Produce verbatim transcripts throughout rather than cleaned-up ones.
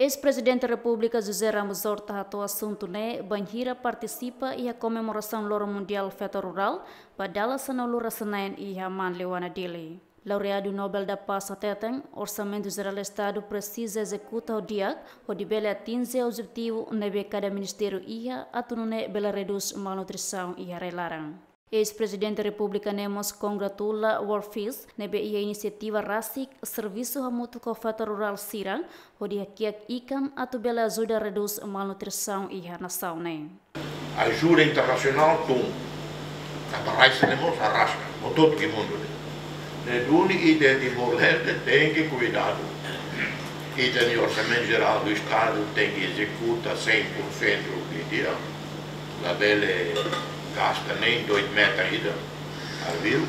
Eis-Prezidente Repúblika José Ramos Horta hato'o asuntu ne'e bainhira partisipa iha komemorasaun Loron Mundiál Feto Rurál ba dala sanulu-resin-neen iha Manleuana, Dili. Laureadu Nobel da Paz hateten, Orsamentu Jerál Estadu presiza ezekuta ho di'ak hodi bele atinje objetivu ne'ebé kada ministériu iha atu nune'e bele redús malnutrisaun iha rai-laran. Eis-Prezidente Repúblika ne'e mós kongratula World Fish ne'ebé iha inisiativa rasik servisu hamutuk ho feto rurál sira hodi hakiak ikan atu bele ajuda redús malnutrisaun iha nasaun ne'e. Ajuda internasionál tun, tanba rai sira ne'e mós arraska, hotu-hotu iha mundu ne'e. Ne'e duni ita Timor-Leste tenke kuidadu. Ita-nia Orsamentu Jerál do Estadu tenke ezekuta cem por cento di'ak. Labele gasta nein dois metan ida arbiru.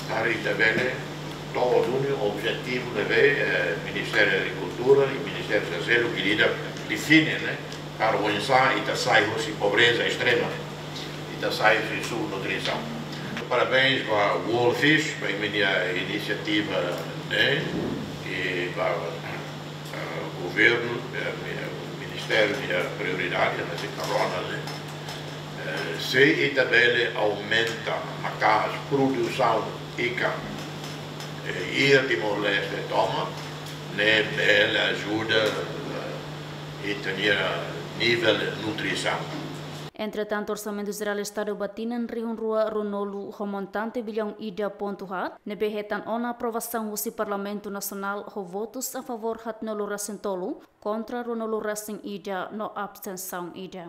Para ita bele to'o duni objetivu ne'ebé, eh, Ministériu Agrikultura i Ministériu Saúde ke ida define, ne'e? Para oinsá ita sai husi pobreza estrema, ita sai husi subnutrisaun. Parabéns ba World Fish, ba imi-nia inisiativa ne'e, i ba, eh, governu, eh, mi-, ministériu nia prioridade, ne'e, se karona, ne'e. Eh, se ita bele aumenta maka'as produsaun ikan, eh, iha Timor-Leste tomak, ne'e bele ajuda, eh, ita-nia nivel nutrisaun. Entretantu, Orsamentu Jerál Estadu ba tinan rihun rua ruanulu ho montante biliaun ida pontu haat, ne'ebé hetan ona aprovasaun husi Parlamentu Nasionál ho votus a favór haatnulu-resin-tolu, kontra ruanulu-resin-ida no abstensaun ida.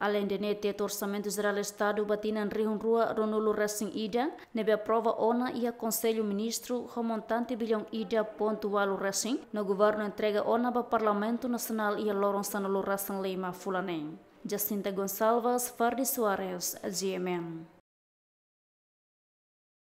Aleinde ne'e, Tetu Orsamentu Jerál Estadu ba tinan rihun rua ruanulu-resin-ida, ne'ebé aprova ona iha Konsellu Ministru ho montante biliaun ida pontu ualu resin, no governu entrega ona ba Parlamentu Nasionál iha loron sanulu-resin-lima fulan ne'e. Jacinta Gonçalves, Fardy Soares, G M N.